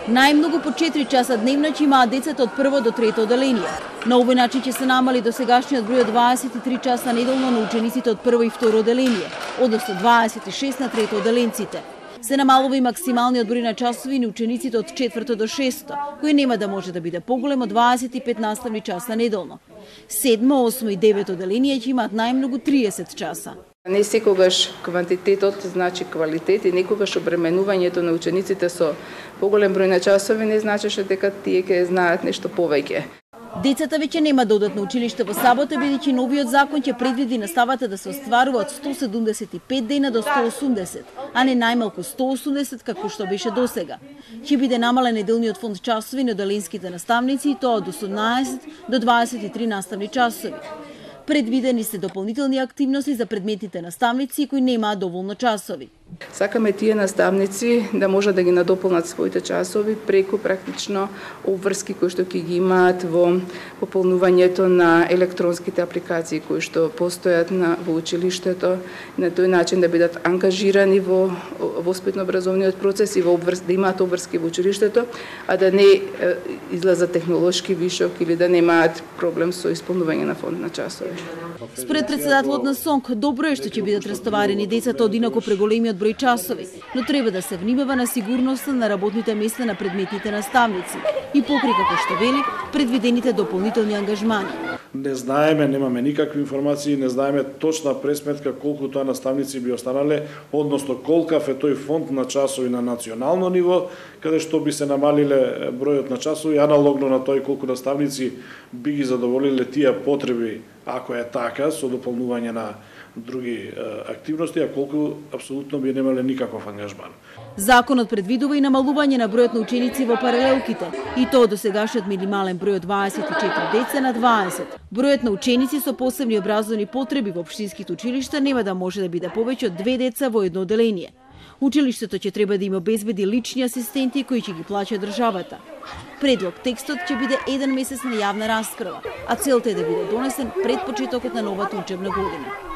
Најмногу по 4 часа дневно ќе имаат децата од прво до трето одделение. На овој начин ќе се намали досегашниот број од 23 часа неделно на учениците од прво и второ одделение, односно 26 на трето одделенците. Се намалува и максималниот број на часови на учениците од четврто до шесто, кој нема да може да биде поголем од 25 наставни часа неделно. Седмо, осмо и девето одделение ќе имаат најмногу 30 часа. Не секогаш квантитетот значи квалитет и некогаш обременувањето на учениците со поголем број на часови не значеше дека тие ќе знаат нешто повеќе. Децата веќе нема да одат на училиште во сабота, бидејќи новиот закон ќе предвиди наставата да се остварува од 175 дена до 180, а не најмалку 180 како што беше досега. Ќе биде намален неделниот фонд часови на одделенските наставници и тоа од 18 до 23 наставни часови. Предвидени се дополнителни активности за предметните наставници кои немаат доволно часови. Сакаме тие наставници да може да ги надополнат своите часови преку практично обврски кои што ќе ги имаат во пополнувањето на електронските апликации кои што постојат во училиштето, на тој начин да бидат ангажирани во воспитно-образовниот процес и да имаат обврски во училиштето, а да не излезат технолошки вишок или да немаат проблем со исполнување на фонд на часови. Според председателот на СОНК, добро е што ќе бидат растоварени децата од инаку преголемиот број часови, но треба да се внимава на сигурноста на работните места на предметните наставници и покрај, како што вели, предвидените дополнителни ангажмани. Не знаеме, немаме никакви информации, не знаеме точна пресметка колку тоа наставници би останале, односно колкав е тој фонд на часови на национално ниво, каде што би се намалиле бројот на часови, аналогно на тој колку наставници би ги задоволиле тие потреби, ако е така, со дополнување на други активности, а колку апсолутно би немале никаков ангажман. Законот предвидува и намалување на бројот на ученици во паралелките, и тоа до сегашниот минимален број од 24 деца на 20. Бројот на ученици со посебни образовни потреби во општинските училишта нема да може да биде повеќе од 2 деца во едно одделение. Училиштето ќе треба да им обезбеди лични асистенти кои ќе ги плаќа државата. Предлог текстот ќе биде 1 месец на јавна расправа, а целта е да биде донесен пред почетокот на новата учебна година.